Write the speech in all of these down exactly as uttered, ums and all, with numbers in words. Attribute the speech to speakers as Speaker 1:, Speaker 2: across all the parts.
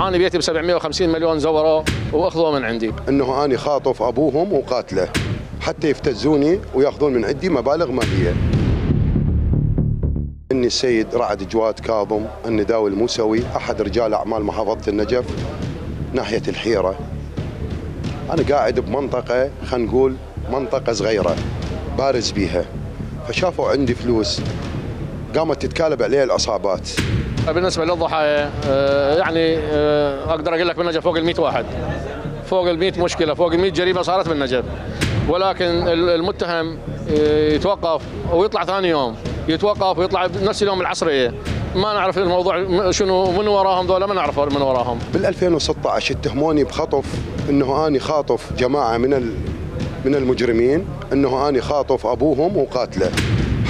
Speaker 1: انا بيتي ب سبعمئة وخمسين مليون زوروا واخذوه من عندي.
Speaker 2: انه انا خاطف ابوهم وقاتله حتى يفتزوني وياخذون من عندي مبالغ ماليه. اني السيد رعد جواد كاظم النداوي الموسوي احد رجال اعمال محافظه النجف ناحيه الحيره. انا قاعد بمنطقه خلينا نقول منطقه صغيره بارز بيها، فشافوا عندي فلوس قامت تتكالب علي العصابات.
Speaker 1: بالنسبه للضحايا يعني اقدر اقول لك بالنجف فوق ال مئة واحد، فوق ال مئة مشكله، فوق ال مئة جريمه صارت بالنجف، ولكن المتهم يتوقف ويطلع ثاني يوم، يتوقف ويطلع نفس اليوم العصريه. ما نعرف الموضوع شنو من وراهم ذولا، ما نعرف من وراهم.
Speaker 2: بال ألفين وستة عشر اتهموني بخطف، انه اني خاطف جماعه من من المجرمين، انه اني خاطف ابوهم وقاتله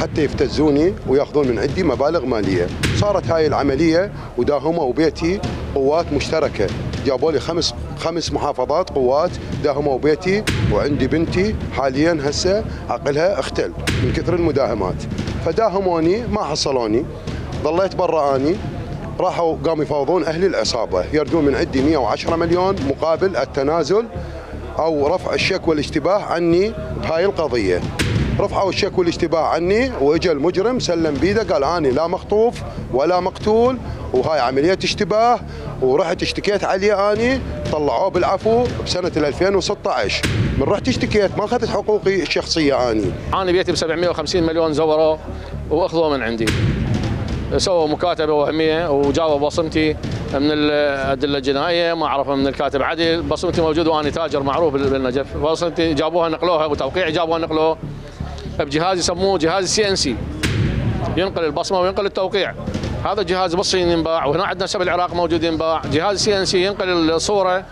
Speaker 2: حتى يفتزوني وياخذون من عندي مبالغ ماليه. صارت هاي العمليه وداهموا بيتي قوات مشتركه، جابوا لي خمس خمس محافظات قوات داهموا بيتي، وعندي بنتي حاليا هسه عقلها اختل من كثر المداهمات. فداهموني ما حصلوني، ظليت برا اني، راحوا قاموا يفاوضون اهل العصابه يردون من عندي مئة وعشرة مليون مقابل التنازل او رفع الشك والاشتباه عني بهاي القضيه. رفعوا الشك والاشتباه عني، واجا المجرم سلم بيده قال اني لا مخطوف ولا مقتول وهاي عمليه اشتباه، ورحت اشتكيت عليه اني، طلعوه بالعفو بسنه ألفين وستة عشر. من رحت اشتكيت ما اخذت حقوقي الشخصيه اني.
Speaker 1: انا بيتي ب سبعمئة وخمسين مليون زوروا واخذوه من عندي. سووا مكاتبه وهميه وجابوا بصمتي من الادله الجنائيه، ما اعرف من الكاتب عدل، بصمتي موجود وانا تاجر معروف بالنجف، بصمتي جابوها نقلوها وتوقيعي جابوها نقلوه بجهاز يسموه جهاز سي ان سي، ينقل البصمه وينقل التوقيع. هذا الجهاز بالصين ينباع، وهنا عندنا سب العراق موجود ينباع. جهاز سي ان سي ينقل الصوره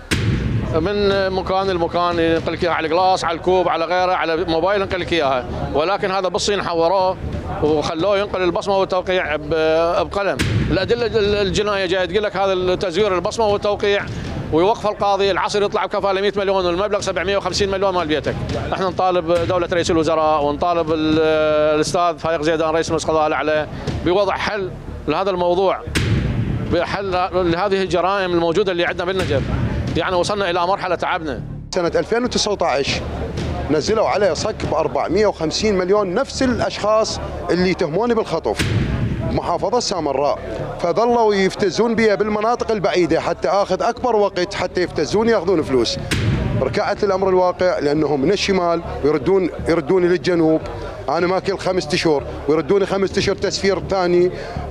Speaker 1: من مكان لمكان، ينقل لك اياها على القلاص، على الكوب، على غيره، على موبايل ينقل لك اياها، ولكن هذا بالصين حوروه وخلوه ينقل البصمه والتوقيع بقلم. الادله الجنائيه جايه تقول لك هذا تزوير البصمه والتوقيع، ويوقف القاضي العصر يطلع بكفاله مئة مليون والمبلغ سبعمئة وخمسين مليون مال بيتك. احنا نطالب دوله رئيس الوزراء ونطالب الاستاذ فايق زيدان رئيس مجلس القضاء الاعلى بوضع حل لهذا الموضوع، بحل لهذه الجرائم الموجوده اللي عندنا بالنجف. يعني وصلنا الى مرحله تعبنا.
Speaker 2: سنه ألفين وتسعة عشر نزلوا علي صك ب أربعمئة وخمسين مليون، نفس الاشخاص اللي يتهموني بالخطف محافظه سامراء، فظلوا يفتزون بي بالمناطق البعيده حتى اخذ اكبر وقت حتى يفتزون ياخذون فلوس. ركعت الامر الواقع لانهم من الشمال ويردون يردوني للجنوب، انا ماكل خمسة اشهر ويردوني خمسة اشهر تسفير ثاني،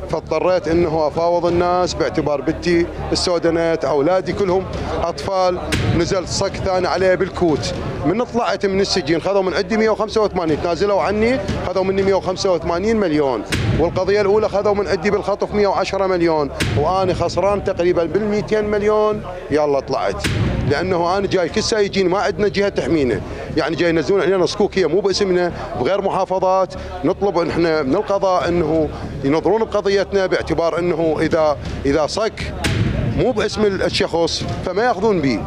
Speaker 2: فاضطريت انه افاوض الناس باعتبار بنتي السودانات، اولادي كلهم اطفال. نزلت صك ثاني عليه بالكوت. من طلعت من السجن خذوا من عندي مئة وخمسة وثمانين، تنازلوا عني خذوا مني مئة وخمسة وثمانين مليون، والقضيه الاولى خذوا من عندي بالخطف مئة وعشرة مليون، وانا خسران تقريبا بال مئتين مليون. يلا طلعت لانه انا جاي كل ساعه يجيني، ما عندنا جهه تحمينا، يعني جاي ينزلون علينا صكوكيه مو باسمنا بغير محافظات. نطلب احنا من القضاء انه ينظرون بقضيتنا باعتبار انه اذا اذا صك مو باسم الشخص فما ياخذون به.